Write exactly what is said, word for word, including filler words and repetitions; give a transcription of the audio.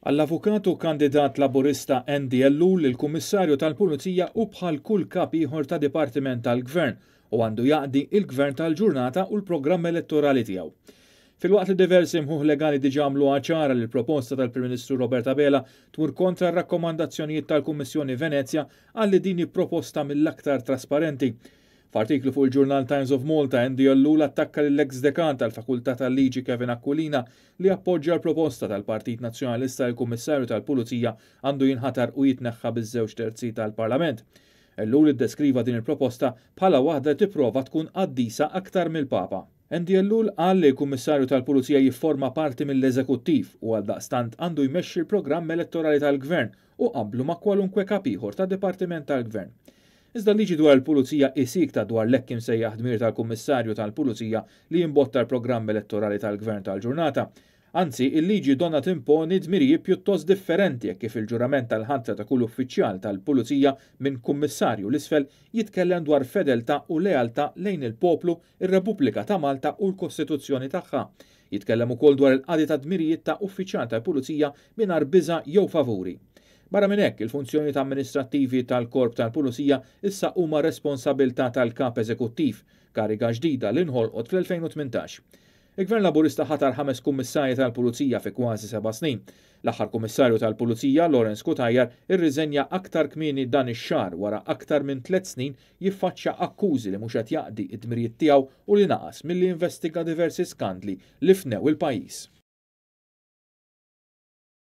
Għall-avukat u kandidat Laburista Andy Ellul, il-Kummissarju tal-Pulizija hu bħal kull kap ieħor ta' dipartiment tal-Gvern u għandu jaqdi il-Gvern tal-ġurnata u l-programm elettorali tiegħu. Filwaqt li diversi mħuħ legali diġà għamlu ċara li l-proposta tal-Prim Ministru Robert Abela tmur kontra r-rakkomandazzjonijiet tal-Kummissjoni Venezja, qal li din proposta mill-aktar trasparenti. F'artiklu fuq il-ġurnal Times of Malta, Andy Ellul attakka l-ex dekan tal-Fakultà tal-Liġi Kevin Aquilina li appoġġja l-proposta tal-Partit Nazzjonalista li l-Kummissarju tal-Pulizija għandu jinħatar u jitneħħa biż-żewġ terzi tal-Parlament. Ellul iddeskriva din il-proposta bħala waħda tipprova tkun qaddisa aktar mill-Papa. Andy Ellul qal li l-Kummissarju tal-Pulizija jifforma parti mill-eżekuttiv u għaldaqstant għandu jmexxi l-programm elettorali tal-Gvern u qablu ma' kwalunkwe kap ieħor ta' Dipartiment tal-Gvern. Iżda liġi dwar il-Pulizija siekta dwar l-hekk imsejjaħ dmir tal-Kummissarju tal-Pulizija li jimbotta l-programm elettorali tal-Gvern tal-ġurnata. Anzi, il-liġi donnha timponi dmirijiet pjuttost differenti kif il-ġurament tal-ħatra ta' kull uffiċjal tal-Pulizija minn kummissarju 'l isfel jitkellem dwar fedeltà u lealtà lejn il-poplu, ir-Repubblika ta' Malta u l-Kostituzzjoni tagħha. Jitkellem ukoll dwar il-qadi ta' dmirijiet ta' uffiċjal tal-Pulizija mingħajr biża' jew favuri. Barra minn hekk, il-funzjonijiet amministrattivi tal-Korp tal-Pulizija issa huma responsabilità tal-kap eżekuttiv, kariga ġdida li nħolqot fl-elfejn u tmintax. Il-Gvern Laburista ħatar ħames kummissarji tal-Pulizija fi kważi seba' snin. L-aħħar kummissarju tal-Pulizija, Lawrence Cutajar, irriżenja aktar kmieni dan ix-xahar wara aktar minn tliet snin jiffaċċja akkużi li mhux qed jaqdi d-dmirijiet tiegħu u li naqas milli jinvestiga diversi skandli li fnew il-pajjiż.